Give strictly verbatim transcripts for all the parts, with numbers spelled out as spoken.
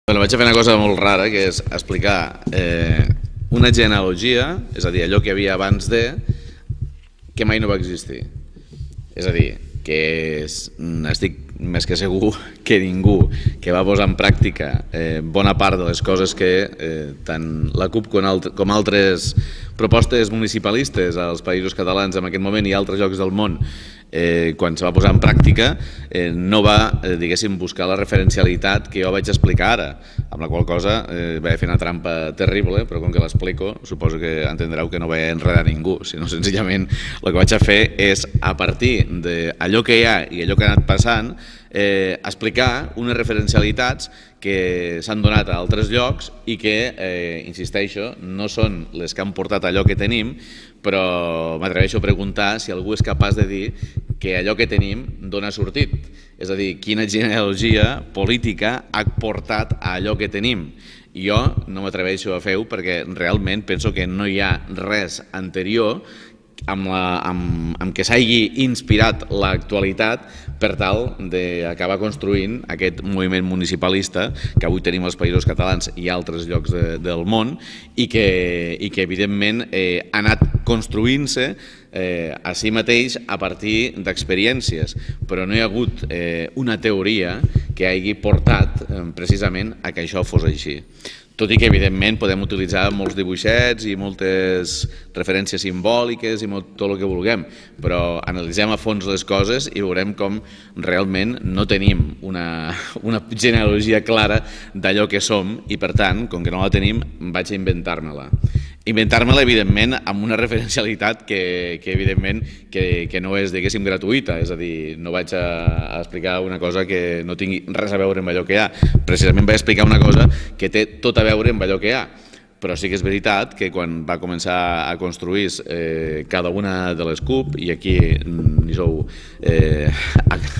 Bueno, vaig a fer una cosa molt rara, que és explicar eh, una genealogia, és a dir, allò que hi havia abans de, que mai no va existir. És a dir, que és, estic més que segur que ningú que va posar en pràctica eh, bona part de les coses que eh, tant la CUP com, alt com altres propostes municipalistes als països catalans en aquest moment i altres llocs del món eh, quan se va posar en pràctica eh, no va, eh, diguéssim, buscar la referencialitat que jo vaig explicar ara, amb la qual cosa eh, vaig fer una trampa terrible, però com que l'explico suposo que entendreu que no vaig enredar ningú, sinó senzillament el que vaig a fer és, a partir d'allò que hi ha i allò que ha anat passant, Eh, explicar unes referencialitats que s'han donat a altres llocs i que, eh, insisteixo, no són les que han portat allò que tenim, però m'atreveixo a preguntar si algú és capaç de dir que allò que tenim dona sortit. És a dir, quina genealogia política ha portat a allò que tenim. Jo no m'atreveixo a fer-ho perquè realment penso que no hi ha res anterior amb, la, amb, amb què s'hagi inspirat l'actualitat per tal d'acabar construint aquest moviment municipalista que avui tenim als països catalans i altres llocs de, del món i que, i que evidentment eh, ha anat construint-se eh, a si mateix a partir d'experiències, però no hi ha hagut eh, una teoria que hagi portat eh, precisament a que això fos així. Tot i que, evidentment, podem utilitzar molts dibuixets i moltes referències simbòliques i tot el que vulguem, però analitzem a fons les coses i veurem com realment no tenim una, una genealogia clara d'allò que som i, per tant, com que no la tenim, vaig a inventar-me-la. Inventar-me-la, evidentment, amb una referencialitat que, que evidentment, que, que no és, diguéssim, gratuïta, és a dir, no vaig a, a explicar una cosa que no tingui res a veure amb allò que hi ha. Precisament vaig explicar una cosa que té tot a veure amb allò que hi ha. Però sí que és veritat que quan va començar a construir eh, cada una de les CUP, i aquí hi sou eh,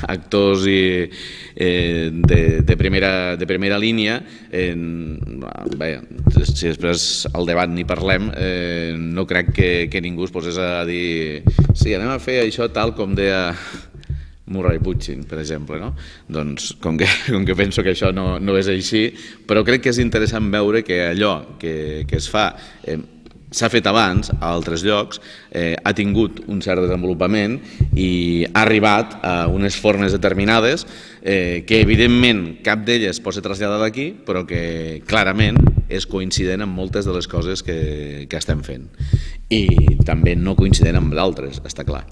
actors i, eh, de, de, primera, de primera línia, eh, bé, si després al debat ni parlem, eh, no crec que, que ningú es posés a dir sí, anem a fer això tal com deia Murray Bookchin, per exemple, no? Doncs com que, com que penso que això no, no és així, però crec que és interessant veure que allò que, que es fa eh, s'ha fet abans a altres llocs, eh, ha tingut un cert desenvolupament i ha arribat a unes formes determinades eh, que evidentment cap d'elles pot ser traslladada d'aquí, però que clarament és coincident amb moltes de les coses que, que estem fent. I també no coincident amb d'altres, està clar.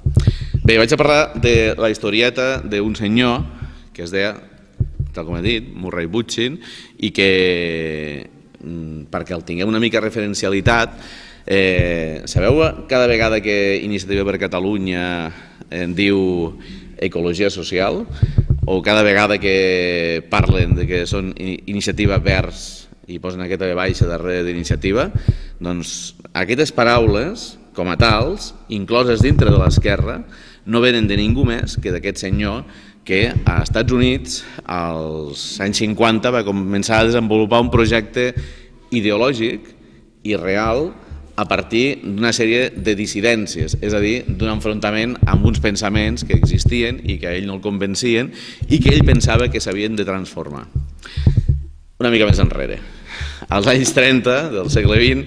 Bé, vaig a parlar de la historieta d'un senyor que es deia, tal com he dit, Murray Bookchin, i que, perquè el tingueu una mica referencialitat, eh, sabeu cada vegada que Iniciativa per Catalunya en diu ecologia social, o cada vegada que parlen de que són iniciativa verds i posen aquesta ve baixa darrere d'iniciativa, doncs aquestes paraules, com a tals, incloses dintre de l'esquerra, no venen de ningú més que d'aquest senyor que a Estats Units als anys cinquanta va començar a desenvolupar un projecte ideològic i real a partir d'una sèrie de dissidències, és a dir, d'un enfrontament amb uns pensaments que existien i que a ell no el convencien i que ell pensava que s'havien de transformar. Una mica més enrere. Als anys trenta del segle vint,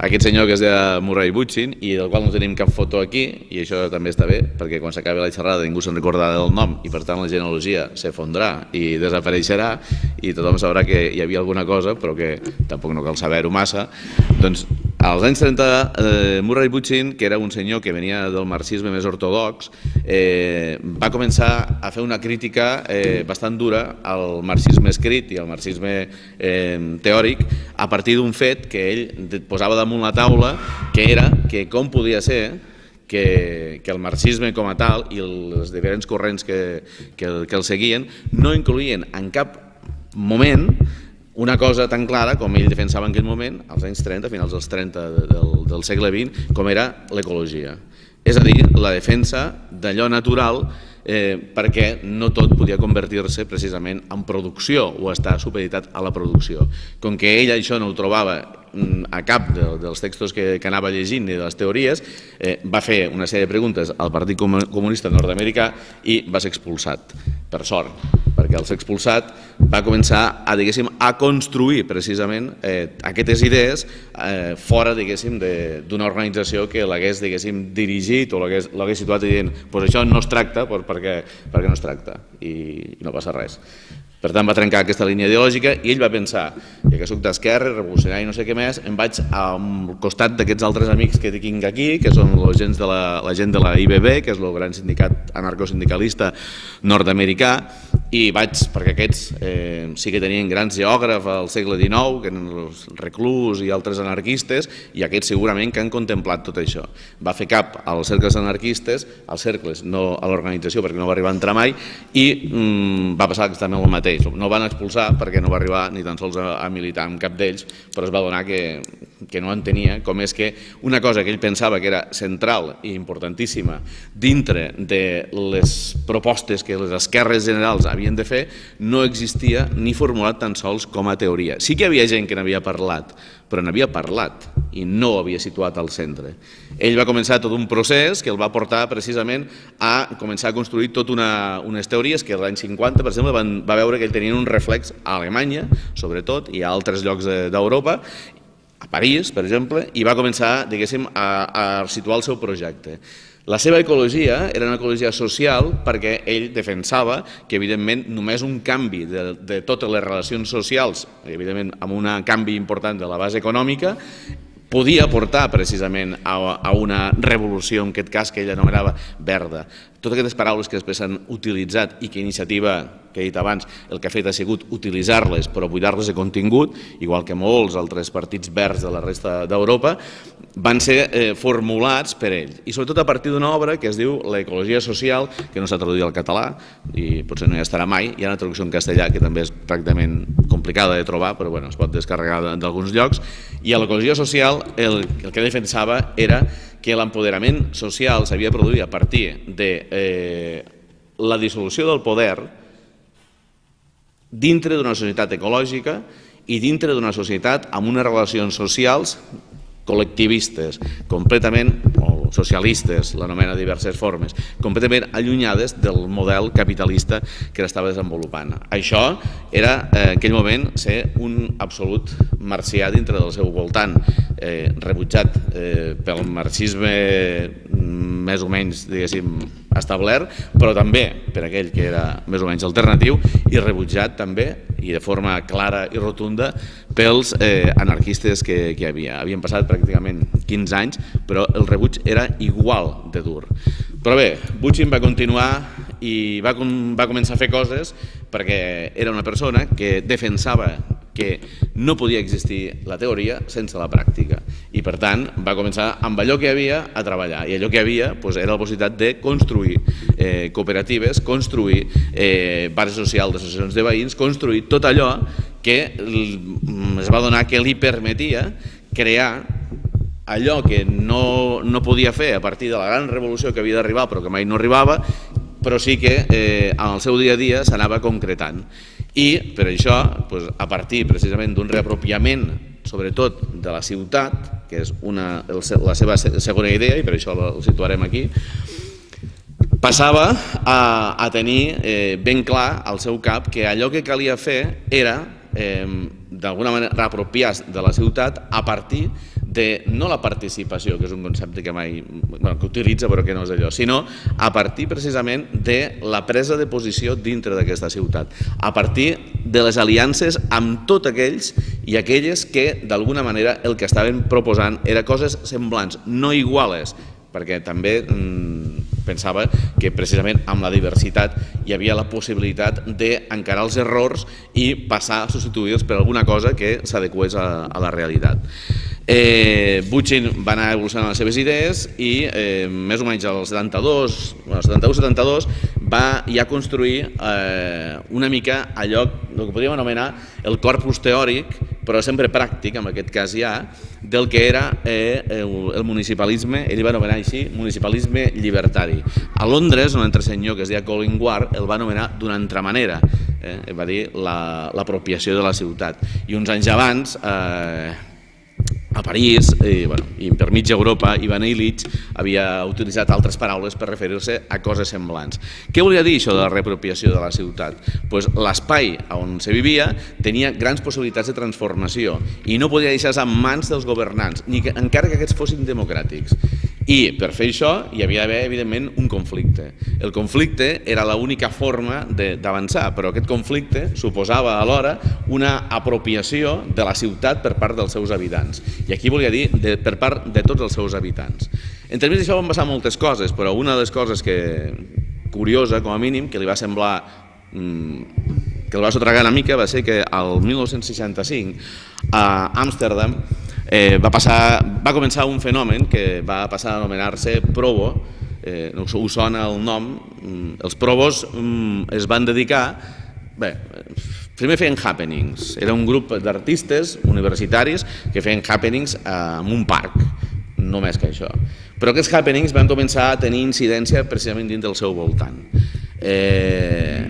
aquest senyor que es deia Murray Bookchin, i del qual no tenim cap foto aquí, i això també està bé, perquè quan s'acabi la xerrada ningú se'n recordarà del nom i per tant la genealogia s'efondrà i desapareixerà i tothom sabrà que hi havia alguna cosa, però que tampoc no cal saber-ho massa. Doncs als anys trenta, eh, Murray Bookchin, que era un senyor que venia del marxisme més ortodox, eh, va començar a fer una crítica eh, bastant dura al marxisme escrit i al marxisme eh, teòric a partir d'un fet que ell posava damunt la taula, que era que com podia ser que, que el marxisme com a tal i els diferents corrents que, que, que el seguien no incloïen en cap moment una cosa tan clara com ell defensava en aquell moment, als anys trenta, a finals dels trenta del, del segle vint, com era l'ecologia. És a dir, la defensa d'allò natural eh, perquè no tot podia convertir-se precisament en producció o estar supeditat a la producció. Com que ell això no ho trobava a cap de, dels textos que, que anava llegint i de les teories, eh, va fer una sèrie de preguntes al Partit Comunista Nord-Americà i va ser expulsat, per sort, perquè al ser expulsat va començar a, diguéssim, a construir precisament eh, aquestes idees eh, fora, diguéssim, d'una organització que l'hagués, diguéssim, dirigit o l'hagués situat dient pues això no es tracta perquè, perquè no es tracta i, i no passa res. Per tant, va trencar aquesta línia ideològica i ell va pensar, ja que soc d'esquerra, revolucionari i no sé què més, em vaig al costat d'aquests altres amics que tinc aquí, que són la gent de la, la gent de la I B B, que és el gran sindicat anarcosindicalista nord-americà, i vaig, perquè aquests eh, sí que tenien grans geògrafs al segle dinou, que eren els Reclus i altres anarquistes, i aquests segurament que han contemplat tot això. Va fer cap als cercles anarquistes, als cercles, no a l'organització, perquè no va arribar a entrar mai, i mm, va passar exactament el mateix. No van expulsar perquè no va arribar ni tan sols a, a militar amb cap d'ells, però es va donar que, que no entenia com és que una cosa que ell pensava que era central i importantíssima dintre de les propostes que les esquerres generals havien de fer no existia ni formulat tan sols com a teoria. Sí que hi havia gent que n'havia parlat, però n'havia parlat i no ho havia situat al centre. Ell va començar tot un procés que el va portar precisament a començar a construir tot una, unes teories que l'any cinquanta, per exemple, van, va veure que ell tenia un reflex a Alemanya, sobretot, i a altres llocs d'Europa, a París, per exemple, i va començar, diguéssim, a, a situar el seu projecte. La seva ecologia era una ecologia social perquè ell defensava que, evidentment, només un canvi de, de totes les relacions socials, evidentment amb un canvi important de la base econòmica, podia portar precisament a, a una revolució, en aquest cas que ell anomenava verda. Totes aquestes paraules que després s'han utilitzat i que Iniciativa, que he dit abans, el que ha fet ha sigut utilitzar-les però buidar-les de contingut, igual que molts altres partits verds de la resta d'Europa, van ser eh, formulats per ell. I sobretot a partir d'una obra que es diu L'ecologia social, que no s'ha traduït al català i potser no hi estarà mai. Hi ha una traducció en castellà que també és pràcticament complicada de trobar, però bueno, es pot descarregar d'alguns llocs. I a l'ecologia social el, el que defensava era que l'empoderament social s'havia de produir a partir de eh, la dissolució del poder dintre d'una societat ecològica i dintre d'una societat amb unes relacions socials col·lectivistes, completament, o socialistes, l'anomena de diverses formes, completament allunyades del model capitalista que l'estava desenvolupant. Això era, en aquell moment, ser un absolut marcià dintre del seu voltant, eh, rebutjat eh, pel marxisme més o menys, diguéssim, establert, però també per aquell que era més o menys alternatiu i rebutjat també, i de forma clara i rotunda, pels eh, anarquistes que, que hi havia. Havien passat pràcticament quinze anys, però el rebuig era igual de dur. Però bé, Bookchin va continuar i va, va començar a fer coses perquè era una persona que defensava que no podia existir la teoria sense la pràctica i per tant va començar amb allò que hi havia a treballar i allò que hi havia doncs, era la possibilitat de construir eh, cooperatives, construir eh, barris socials d'associacions de veïns, construir tot allò que es va donar que li permetia crear allò que no, no podia fer a partir de la gran revolució que havia d'arribar però que mai no arribava, però sí que eh, en el seu dia a dia s'anava concretant. I per això, doncs, a partir precisament d'un reapropiament, sobretot de la ciutat, que és una, la seva segona idea, i per això la situarem aquí, passava a, a tenir eh, ben clar al seu cap que allò que calia fer era, eh, d'alguna manera, reapropiar-se de la ciutat a partir de, no la participació, que és un concepte que mai, bueno, que utilitza però que no és allò, sinó a partir precisament de la presa de posició dintre d'aquesta ciutat, a partir de les aliances amb tots aquells i aquelles que d'alguna manera el que estaven proposant era coses semblants, no iguales, perquè també mm, pensava que precisament amb la diversitat hi havia la possibilitat d'encarar els errors i passar a substituir-los per alguna cosa que s'adequés a, a la realitat. Eh, Bookchin va anar evolucionant les seves idees i eh, més o menys al setanta-dos, bueno, setanta-u setanta-dos va ja construir eh, una mica allò, el que podríem anomenar el corpus teòric, però sempre pràctic, en aquest cas ja, del que era eh, el, el municipalisme, ell va anomenar així, municipalisme llibertari. A Londres, un altre senyor que es deia Colin Ward el va anomenar d'una altra manera, eh, va dir l'apropiació la, de la ciutat. I uns anys abans, eh, a París, i, bueno, i per mitja Europa, Ivan Illich havia utilitzat altres paraules per referir-se a coses semblants. Què volia dir això de la reapropiació de la ciutat? Pues l'espai on se vivia tenia grans possibilitats de transformació i no podia deixar-se en mans dels governants, ni que, encara que aquests fossin democràtics. I per fer això hi havia d'haver, evidentment, un conflicte. El conflicte era l'única forma d'avançar, però aquest conflicte suposava alhora una apropiació de la ciutat per part dels seus habitants. I aquí volia dir de, per part de tots els seus habitants. En termes d'això van passar moltes coses, però una de les coses que, curiosa, com a mínim, que li va semblar mmm, que el va sotragar una mica va ser que el mil nou-cents seixanta-cinc a Amsterdam Eh, va, passar, va començar un fenomen que va passar a anomenar-se Provo, eh, us sona el nom, els Provos mm, es van dedicar, bé, primer feien happenings, era un grup d'artistes universitaris que feien happenings en un parc, només que això. Però aquests happenings van començar a tenir incidència precisament dins del seu voltant. Eh,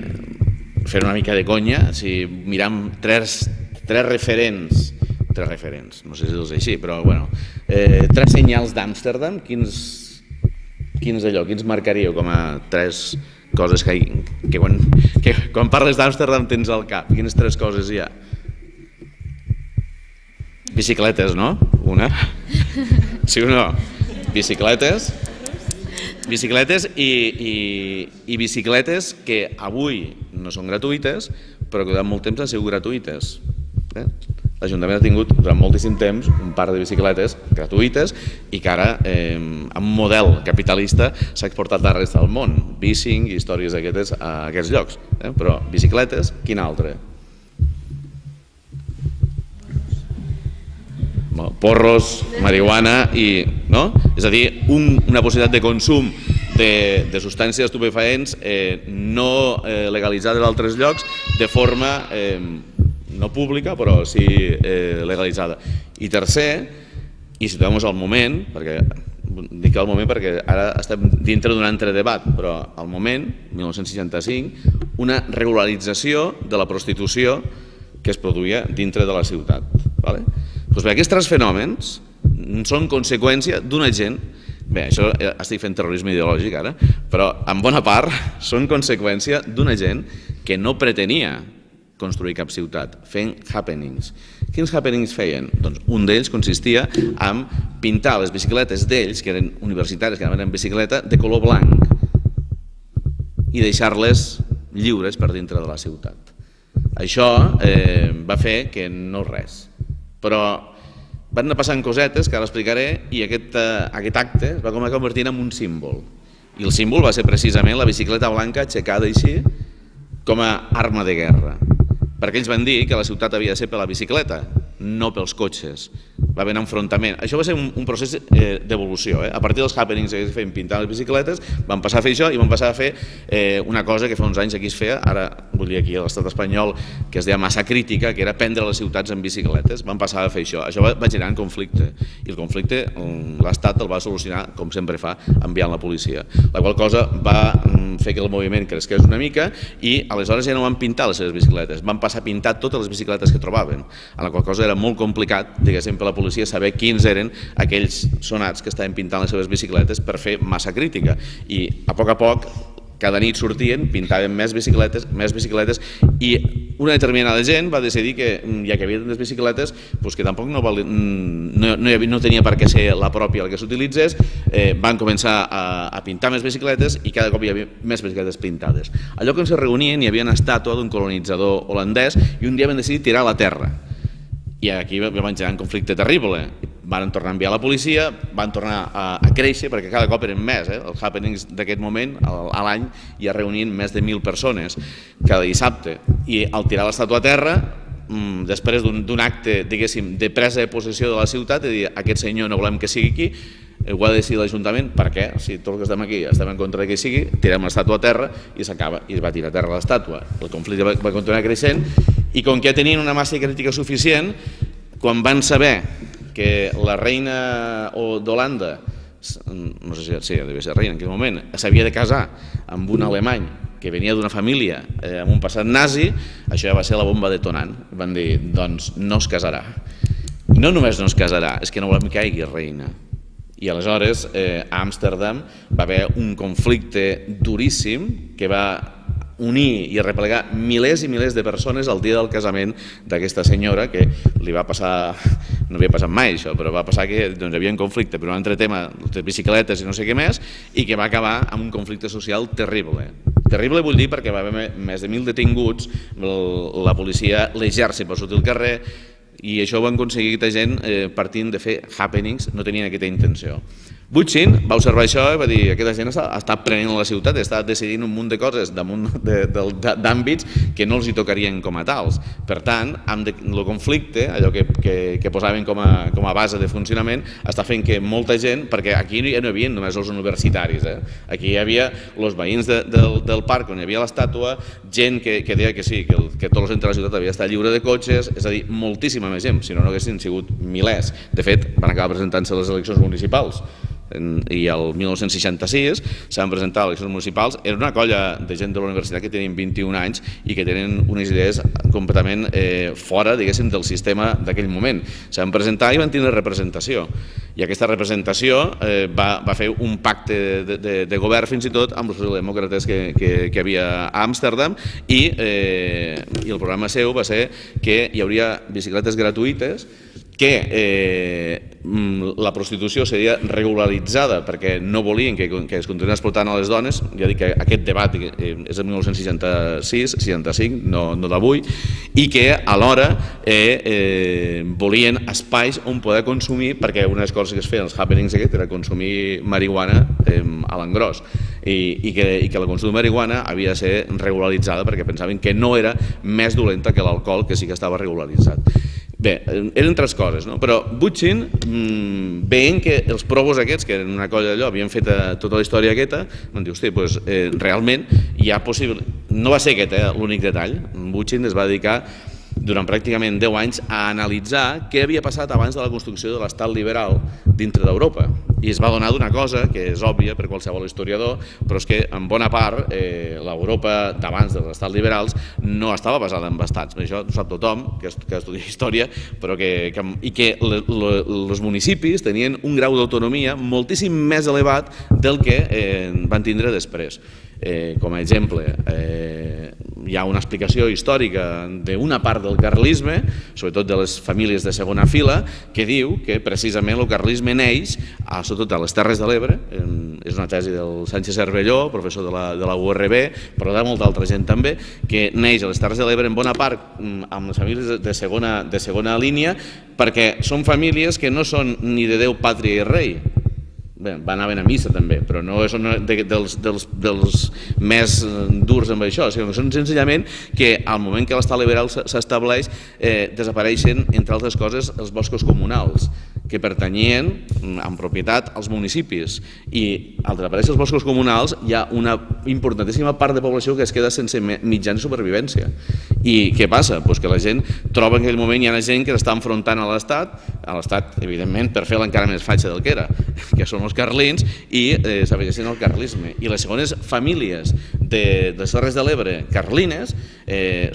fer una mica de conya, si miram tres, tres referents tres referents, no sé si és així, però bueno, eh, tres senyals d'Amsterdam, quins, quins d'allò, quins marcaríeu com a tres coses que, que, quan, que quan parles d'Amsterdam tens al cap? Quines tres coses hi ha? Bicicletes, no? Una? Sí o no? Bicicletes, bicicletes i, i, i bicicletes que avui no són gratuïtes, però que durant molt temps han sigut gratuïtes. Eh? L'Ajuntament ha tingut durant moltíssim temps un parc de bicicletes gratuïtes i que ara, eh, amb un model capitalista, s'ha exportat a la resta del món, bicing i històries d'aquestes a aquests llocs. Eh? Però bicicletes, quin altre? Porros, marihuana i... no? És a dir, un, una possibilitat de consum de, de substàncies estupefaents eh, no eh, legalitzades a altres llocs de forma... Eh, no pública, però sí eh, legalitzada. I tercer, i situem al moment, perquè dic al moment perquè ara estem dintre d'un altre debat, però al moment, mil nou-cents seixanta-cinc, una regularització de la prostitució que es produïa dintre de la ciutat. Vale? Doncs bé, aquests tres fenòmens són conseqüència d'una gent, bé, això estic fent terrorisme ideològic ara, però en bona part són conseqüència d'una gent que no pretenia construir cap ciutat, fent happenings. Quins happenings feien? Doncs un d'ells consistia en pintar les bicicletes d'ells, que eren universitaris, que anaven en bicicleta, de color blanc i deixar-les lliures per dintre de la ciutat. Això eh, va fer que no res, però van anar passant cosetes que ara explicaré i aquest, eh, aquest acte es va convertir en un símbol. I el símbol va ser precisament la bicicleta blanca aixecada així com a arma de guerra. Perquè ells van dir que la ciutat havia de ser per la bicicleta, no pels cotxes. Va haver un enfrontament. Això va ser un, un procés eh, d'evolució. Eh? A partir dels happenings que es feien pintar les bicicletes, van passar a fer això i van passar a fer eh, una cosa que fa uns anys aquí es feia, ara vull dir aquí a l'estat espanyol, que es deia massa crítica, que era prendre les ciutats en bicicletes. Van passar a fer això. Això va, va generar un conflicte. I el conflicte l'Estat el va solucionar, com sempre fa, enviant la policia. La qual cosa va fer que el moviment cresqués una mica i aleshores ja no van pintar les seves bicicletes, van passar a pintar totes les bicicletes que trobaven, en la qual cosa era molt complicat, diguéssim, per la policia saber quins eren aquells sonats que estaven pintant les seves bicicletes per fer massa crítica. I a poc a poc, cada nit sortien, pintaven més bicicletes, més bicicletes i una determinada gent va decidir que, ja que havia tantes bicicletes, doncs que tampoc no, val, no, no, havia, no tenia per què ser la pròpia la que s'utilitzés, eh, van començar a, a pintar més bicicletes i cada cop hi havia més bicicletes pintades. Al lloc on se reunien hi havia una estàtua d'un colonitzador holandès i un dia van decidir tirar a la terra. I aquí van generar un conflicte terrible. Van tornar a enviar la policia, van tornar a, a créixer, perquè cada cop eren més. Eh? Els happenings d'aquest moment, a l'any, ja reunien més de mil persones cada dissabte. I al tirar l'estàtua a terra, després d'un acte, diguéssim, de presa de possessió de la ciutat, de dir, aquest senyor no volem que sigui aquí, ho ha de decidir l'Ajuntament, per què? Si tots els que estem aquí estem en contra que sigui, tirem l'estàtua a terra i s'acaba, i es va tirar a terra l'estàtua. El conflicte va, va continuar creixent i com que ja tenien una massa crítica suficient, quan van saber que la reina d'Holanda, no sé si sí, devia ser reina en aquell moment, s'havia de casar amb un alemany que venia d'una família eh, amb un passat nazi, això ja va ser la bomba detonant. Van dir, doncs no es casarà. no només no es casarà, és que no volem que hi hagi reina. I aleshores a Amsterdam va haver un conflicte duríssim que va unir i arreplegar milers i milers de persones al dia del casament d'aquesta senyora, que li va passar, no havia passat mai això, però va passar que hi havia un conflicte per un altre tema de bicicletes i no sé què més, i que va acabar amb un conflicte social terrible. Terrible vull dir perquè va haver més de mil detinguts, la policia, l'exèrcit va sortir al carrer, i això ho van aconseguir aquesta gent partint de fer happenings, no tenien aquesta intenció. Butchin va observar això i va dir que aquesta gent ha estat prenent la ciutat, ha estat decidint un munt de coses damunt d'àmbits que no els hi tocarien com a tals. Per tant, el conflicte, allò que posaven com a base de funcionament, està fent que molta gent, perquè aquí ja no hi havia només els universitaris, aquí hi havia els veïns del parc on hi havia l'estàtua, gent que deia que sí, que tot el centre de la ciutat havia estat lliure de cotxes, és a dir, moltíssima més gent, si no no haguessin sigut milers. De fet, van acabar presentant-se les eleccions municipals i el mil nou-cents seixanta-sis s'han presentat eleccions municipals. Era una colla de gent de la universitat que tenien vint-i-un anys i que tenen unes idees completament fora, diguéssim, del sistema d'aquell moment. S'han presentat i van tenir representació, i aquesta representació va fer un pacte de govern fins i tot amb els socialdemòcrates que hi havia a Amsterdam, i el programa seu va ser que hi hauria bicicletes gratuïtes, que la prostitució seria regularitzada perquè no volien que es continuï explotant a les dones. Ja dic que aquest debat és de mil nou-cents seixanta-sis seixanta-cinc, no d'avui, i que alhora volien espais on poder consumir, perquè una de les coses que es feien els happenings aquests era consumir marihuana a l'engròs, i que el consum de marihuana havia de ser regularitzada perquè pensaven que no era més dolenta que l'alcohol, que sí que estava regularitzat. Bé, eren tres coses, però Butchin, veient que els provos aquests, que eren una colla d'allò, havien fet tota la història aquesta, van dir, hosti, doncs realment hi ha possible... No va ser aquest l'únic detall. Butchin es va dedicar durant pràcticament deu anys a analitzar què havia passat abans de la construcció de l'estat liberal dintre d'Europa. I es va donar d'una cosa que és òbvia per qualsevol historiador, però és que en bona part l'Europa d'abans dels estats liberals no estava basada en estats. Això ho sap tothom que estudia història, i que els municipis tenien un grau d'autonomia moltíssim més elevat del que van tindre després. Com a exemple, hi ha una explicació històrica d'una part del carlisme, sobretot de les famílies de segona fila, que diu que precisament el carlisme neix sobretot a les Terres de l'Ebre. És una tesi del Sánchez Cervelló, professor de la U R B, però de molta altra gent també, que neix a les Terres de l'Ebre en bona part amb les famílies de segona línia, perquè són famílies que no són ni de Déu, pàtria i rei. Bé, van anar a missa també, però no són dels més durs amb això, sinó que són senzillament que al moment que l'estat liberal s'estableix desapareixen, entre altres coses, els boscos comunals, que pertanyien en propietat als municipis, i al desaparèixer els boscos comunals hi ha una importantíssima part de població que es queda sense mitjans de supervivència. I què passa? Doncs que la gent troba que en aquell moment hi ha gent que s'està enfrontant a l'Estat, a l'Estat, evidentment, per fer-la encara més fatxa del que era, que són els carlins, i s'afegeixen al carlisme. I les segones famílies de les Terres de l'Ebre carlines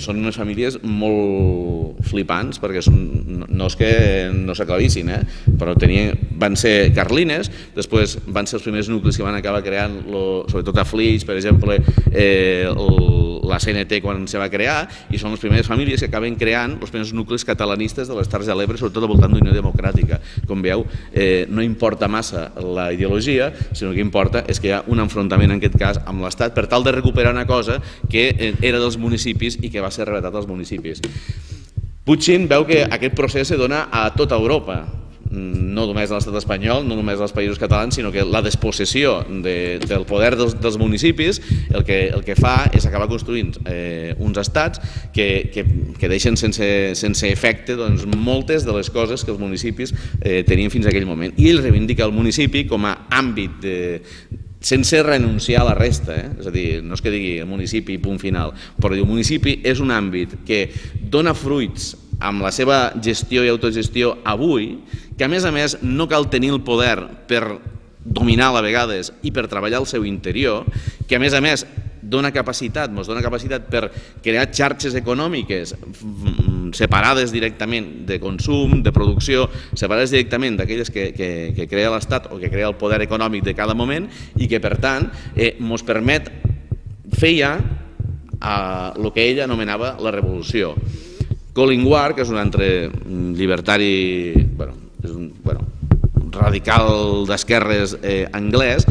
són unes famílies molt flipants, perquè no és que no s'aclarissin, però van ser carlines, després van ser els primers nuclis que van acabar creant, sobretot a Flix, per exemple, la C N T quan se va crear, i són les primeres famílies que acaben creant els primers nuclis catalanistes de les Terres de l'Ebre, sobretot al voltant d'Unió Democràtica. Com veieu, no importa massa la ideologia, sinó que importa és que hi ha un enfrontament en aquest cas amb l'Estat per tal de recuperar una cosa que era dels municipis i que va ser arrebatat als municipis. Butchin veu que aquest procés se dona a tota Europa, no només a l'estat espanyol, no només als països catalans, sinó que la despossessió del poder dels municipis el que fa és acabar construint uns estats que deixen sense efecte moltes de les coses que els municipis tenien fins a aquell moment. I ell reivindica el municipi com a àmbit de sense renunciar a la resta, és a dir, no és que digui el municipi punt final, però el municipi és un àmbit que dona fruits amb la seva gestió i autogestió avui, que a més a més no cal tenir el poder per dominar a vegades i per treballar al seu interior, que a més a més dona capacitat, ens dona capacitat per crear xarxes econòmiques separades directament de consum, de producció, separades directament d'aquelles que, que, que crea l'Estat o que crea el poder econòmic de cada moment i que, per tant, ens eh, permet fer ja el que ell anomenava la revolució. Colin Ward, que és un altre llibertari, bueno, és un, bueno, radical d'esquerres eh, anglès,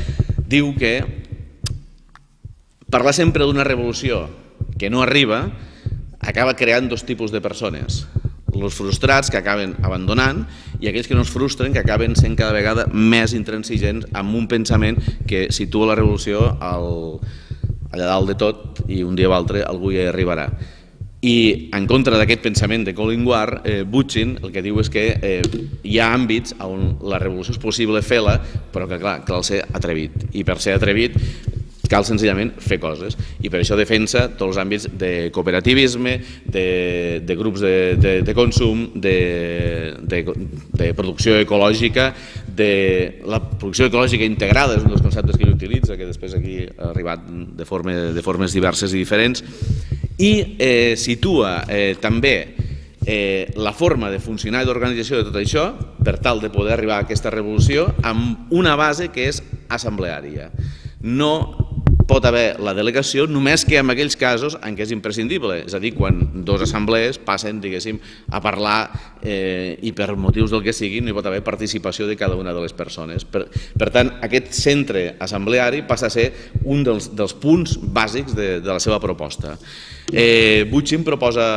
diu que parlar sempre d'una revolució que no arriba acaba creant dos tipus de persones. Els frustrats, que acaben abandonant, i aquells que no es frustren, que acaben sent cada vegada més intransigents amb un pensament que situa la revolució al, allà dalt de tot i un dia o altre algú hi arribarà. I en contra d'aquest pensament de Colin Ward, eh, Bookchin el que diu és que eh, hi ha àmbits on la revolució és possible fer-la, però que clar, cal ser atrevit. I per ser atrevit cal senzillament fer coses, i per això defensa tots els àmbits de cooperativisme, de, de grups de, de, de consum, de, de, de producció ecològica, de la producció ecològica integrada, és un dels conceptes que ell utilitza, que després aquí ha arribat de, forma, de formes diverses i diferents, i eh, situa eh, també eh, la forma de funcionar i d'organització de tot això per tal de poder arribar a aquesta revolució amb una base que és assembleària. No pot haver la delegació només que en aquells casos en què és imprescindible, és a dir, quan dos assemblees passen, diguéssim, a parlar eh, i per motius del que sigui no hi pot haver participació de cada una de les persones. Per, per tant, aquest centre assembleari passa a ser un dels, dels punts bàsics de, de la seva proposta. Eh, Bookchin proposa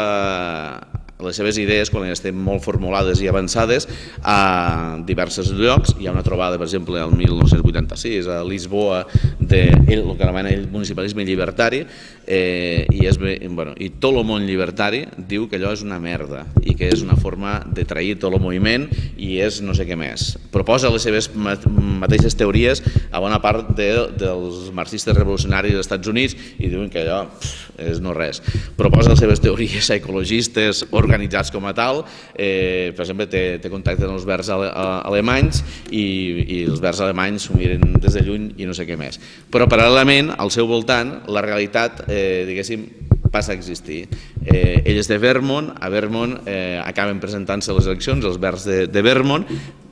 les seves idees, quan estan molt formulades i avançades, a diversos llocs. Hi ha una trobada, per exemple, el mil nou-cents vuitanta-sis, a Lisboa, del que anomena el municipalisme llibertari, eh, i, és, bueno, i tot el món llibertari diu que allò és una merda i que és una forma de trair tot el moviment i és no sé què més. Proposa les seves mateixes teories a bona part de, dels marxistes revolucionaris dels Estats Units i diuen que allò pff, és no res. Proposa les seves teories ecologistes organitzats com a tal, eh, per exemple té, té contacte amb els verds ale, alemanys i, i els verds alemanys s'ho miren des de lluny i no sé què més. Però paral·lelament al seu voltant la realitat eh, diguéssim passa a existir. Eh, ell és de Vermont, a Vermont eh, acaben presentant-se les eleccions, els verds de, de Vermont.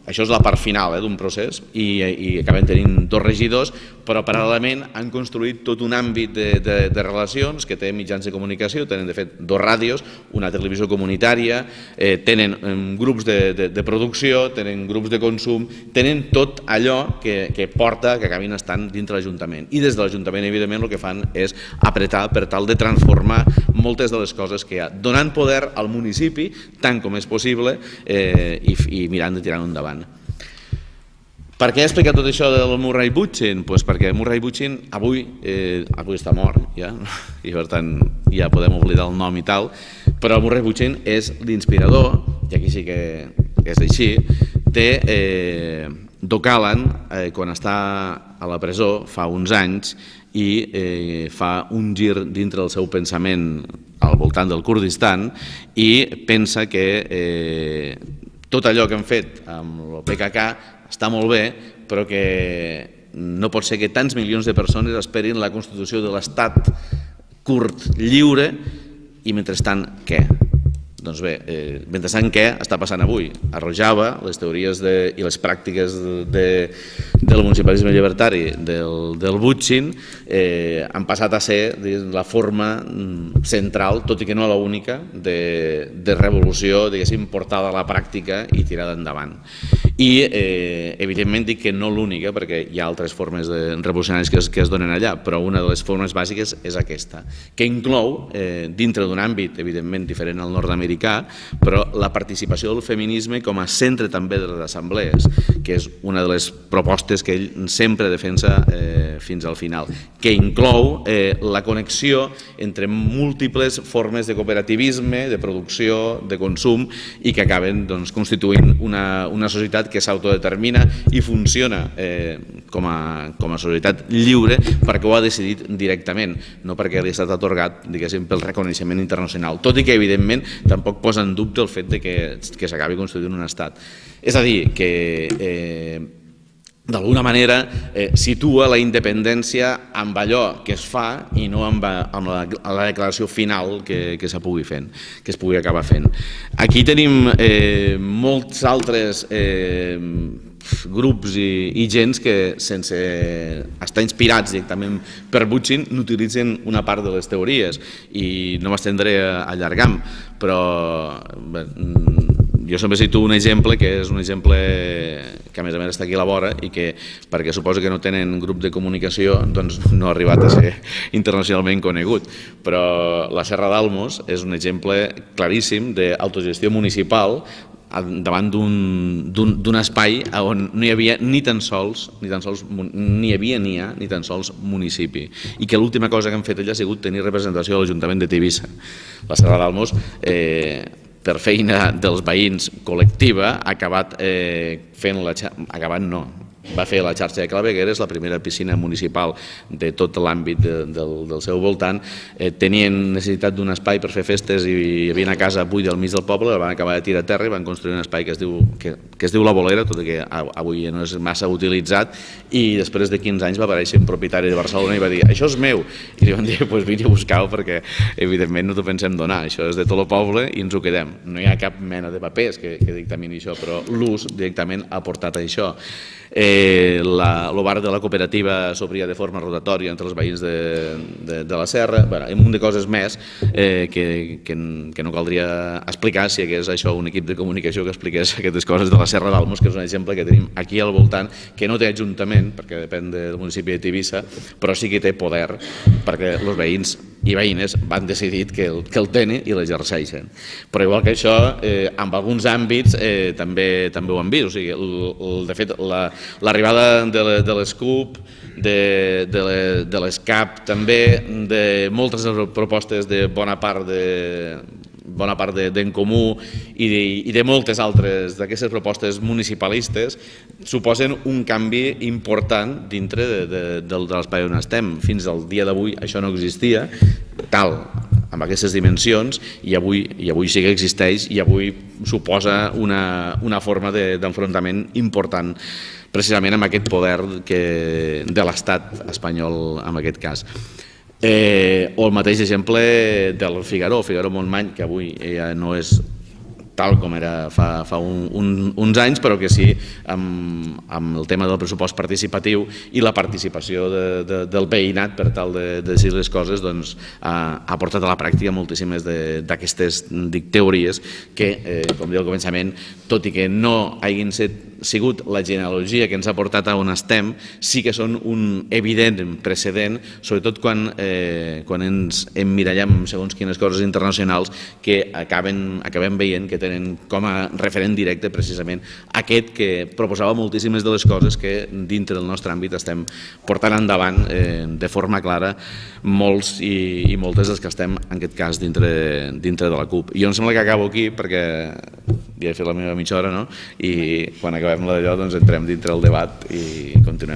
Això és la part final eh, d'un procés i, i acaben tenint dos regidors, però paral·lelament han construït tot un àmbit de, de, de relacions que té mitjans de comunicació, tenen de fet dos ràdios, una televisió comunitària, eh, tenen eh, grups de, de, de producció, tenen grups de consum, tenen tot allò que, que porta que acabin estant dintre l'Ajuntament. I des de l'Ajuntament, evidentment, el que fan és apretar per tal de transformar moltes de les coses que hi ha, donant poder al municipi tant com és possible eh, i, i mirant de tirar endavant. Per què he explicat tot això del Murray Bookchin? Pues perquè Murray Bookchin avui, eh, avui està mort ja, i per tant ja podem oblidar el nom i tal, però Murray Bookchin és l'inspirador, i aquí sí que és així, de eh, Doc Allen eh, quan està a la presó fa uns anys i eh, fa un gir dintre del seu pensament al voltant del Kurdistan i pensa que eh, tot allò que han fet amb el P K K està molt bé, però que no pot ser que tants milions de persones esperin la constitució de l'estat kurd lliure i mentrestant què? Doncs bé, eh, mentrestant què està passant avui? A Rojava, les teories de, i les pràctiques de, del municipalisme llibertari del, del Bookchin eh, han passat a ser la forma central, tot i que no l'única, de, de revolució, diguéssim, portada a la pràctica i tirada endavant. I eh, evidentment dic que no l'única, perquè hi ha altres formes de revolucionaris que es, que es donen allà, però una de les formes bàsiques és aquesta, que inclou, eh, dintre d'un àmbit evidentment diferent al nord-americà, però la participació del feminisme com a centre també de les assemblees, que és una de les propostes que ell sempre defensa eh, fins al final, que inclou eh, la connexió entre múltiples formes de cooperativisme, de producció, de consum, i que acaben doncs, constituint una, una societat que s'autodetermina i funciona eh, com, a, com a societat lliure perquè ho ha decidit directament, no perquè li ha estat atorgat, diguéssim, pel reconeixement internacional, tot i que evidentment tampoc posa en dubte el fet de que, que s'acabi constituint un estat. És a dir, que eh, d'alguna manera eh, situa la independència amb allò que es fa i no amb, amb la, la declaració final que, que se pugui fent, que es pugui acabar fent. Aquí tenim eh, molts altres eh, grups i, i gens que sense estar inspirats directament per Bookchin n'utilitzen una part de les teories i no m'estendré allargant, però bé, jo sempre cito un exemple que és un exemple que a més a més està aquí a la vora i que perquè suposo que no tenen grup de comunicació doncs no ha arribat a ser internacionalment conegut, però la Serra d'Almos és un exemple claríssim d'autogestió municipal davant d'un espai on no hi havia ni tan sols ni tan sols ni hi havia ni hi ha ni tan sols municipi i que l'última cosa que han fet allà ha sigut tenir representació a l'Ajuntament de Tivissa. La Serra d'Almos eh, per feina dels veïns col·lectiva ha acabat eh, fent la xarxa, acabat no, va fer la xarxa de clavegueres, la primera piscina municipal de tot l'àmbit de, del, del seu voltant. Eh, tenien necessitat d'un espai per fer festes i hi havia una casa buida al mig del poble, la van acabar de tirar a terra i van construir un espai que es diu, que, que es diu La Bolera, tot i que avui no és massa utilitzat, i després de quinze anys va aparèixer un propietari de Barcelona i va dir això és meu, i li van dir pues vine a buscar-ho perquè evidentment no t'ho pensem donar, això és de tot el poble i ens ho quedem. No hi ha cap mena de papers que, que dictamini això, però l'ús directament ha portat a això. Eh, la, el bar de la cooperativa s'obria de forma rotatòria entre els veïns de, de, de la Serra, bueno, un munt de coses més eh, que, que, que no caldria explicar si hi hagués això un equip de comunicació que expliqués aquestes coses de la Serra d'Almos, que és un exemple que tenim aquí al voltant, que no té ajuntament, perquè depèn del municipi de Tivissa, però sí que té poder, perquè els veïns i veïnes van decidir que el, que el tenen i l'exerceixen. Però igual que això, eh, en alguns àmbits eh, també, també ho han vist, o sigui, el, el, de fet, la, l'arribada de les C U P, de, de, de les C A P també, de moltes propostes de bona part de bona part d'en Comú i de, i de moltes altres d'aquestes propostes municipalistes suposen un canvi important dintre de, de, de, de l'espai on estem. Fins al dia d'avui això no existia tal, amb aquestes dimensions, i avui, i avui sí que existeix i avui suposa una, una forma d'enfrontament important precisament amb aquest poder que, de l'estat espanyol en aquest cas. Eh, o el mateix exemple del Figaró, Figaró-Montmany, que avui ja no és tal com era fa, fa un, un, uns anys, però que sí amb, amb el tema del pressupost participatiu i la participació de, de, del veïnat per tal de, de decidir les coses, doncs, ha, ha portat a la pràctica moltíssimes d'aquestes teories que, eh, com diu al començament, tot i que no hagin set, sigut la genealogia que ens ha portat a on estem, sí que són un evident precedent, sobretot quan, eh, quan ens emmirallem segons quines coses internacionals que acaben, acabem veient que tenen com a referent directe precisament aquest que proposava moltíssimes de les coses que dintre del nostre àmbit estem portant endavant eh, de forma clara molts i, i moltes dels que estem en aquest cas dintre, dintre de la C U P. I jo em sembla que acabo aquí perquè ja he fet la meva mitja hora, no? I quan acabem la d'allò doncs entrem dintre el debat i continuem.